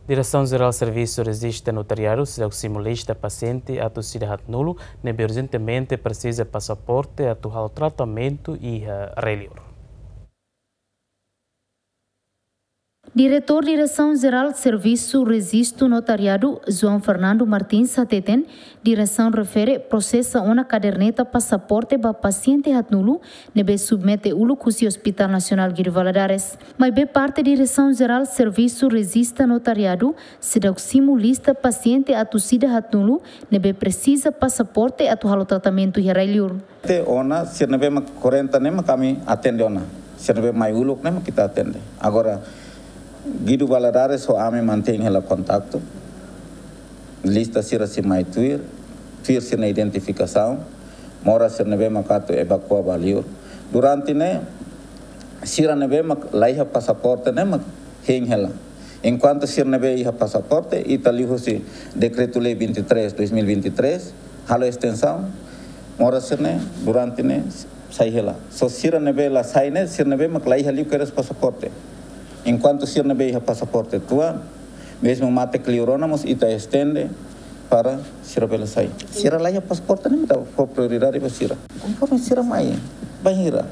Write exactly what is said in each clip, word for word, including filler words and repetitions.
Diresaun Jerál Servisu Rejista Notariadu seidauk simu lista pasiente atu sida haatnulu ne'ebé urjentemente presiza pasaporte atu halo tratamentu iha rai-liur. Diretór Diresaun Jerál Servisu Rejistu Notariadu, João Fernando Martins, hateten, diresaun refere prosesa ona kaderneta pasaporte ba pasiente haatnulu ne'ebé submete uluk husi Hospital Nasionál Guido Valadares. Maibé parte Diresaun Jerál Servisu Rejista Notariadu seidauk simu lista pasiente atu sida haatnulu ne'ebé presiza pasaporte atu halo tratamentu iha rai-liur. Te ona, sira ne'ebé mak kuarenta ne'e mak ami atende ona. Sira ne'ebé mai uluk ne'e mak ita atende. Agora, Guido Valadares ho ami mantein hela kontaktu. Lista sira sei mai tuir, tuir sira-nia identifikasaun, moras sira ne'ebé mak atu evakua ba liur. Durante ne'e, sira ne'ebé mak laiha pasaporte ne'e mak hein hela. Enkuantu sira ne'ebé iha pasaporte, ita liuhusi Dekretu-Lei vinte e três, dois mil e vinte e três, halo estensaun, moras sira ne'e, durante ne'e, sai hela. Só sira ne'ebé la sai ne'e, sira ne'ebé mak laiha liu kedas pasaporte. Enkuantu sira ne'ebé iha pasaporte tuan, mezmu mate liur ona mós ita estende para sira bele sai. Sira laiha pasaporte ne'e ita fó prioridade ba sira. Konforme sira mai, bainhira.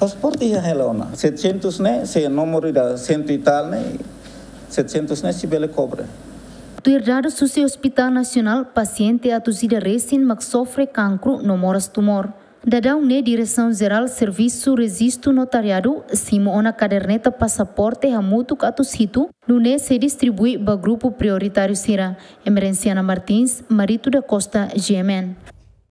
Pasaporte iha hela ona. Setecentos ne'e, se númeru ida cento e tal ne'e, setecentos ne'e sei bele kobre. Tuir dadus husi Hospital Nasionál, pasiente atus ida resin mak sofre kankru no moras tumór. Daudaun ne'e Diresaun Jerál Servisu Rejistu Notariadu simu ona kaderneta pasaporte hamutuk atus hitu, nune'e sei distribui ba grupu prioritáriu sira. Emerenciana Martins, Marito da Costa, G M N.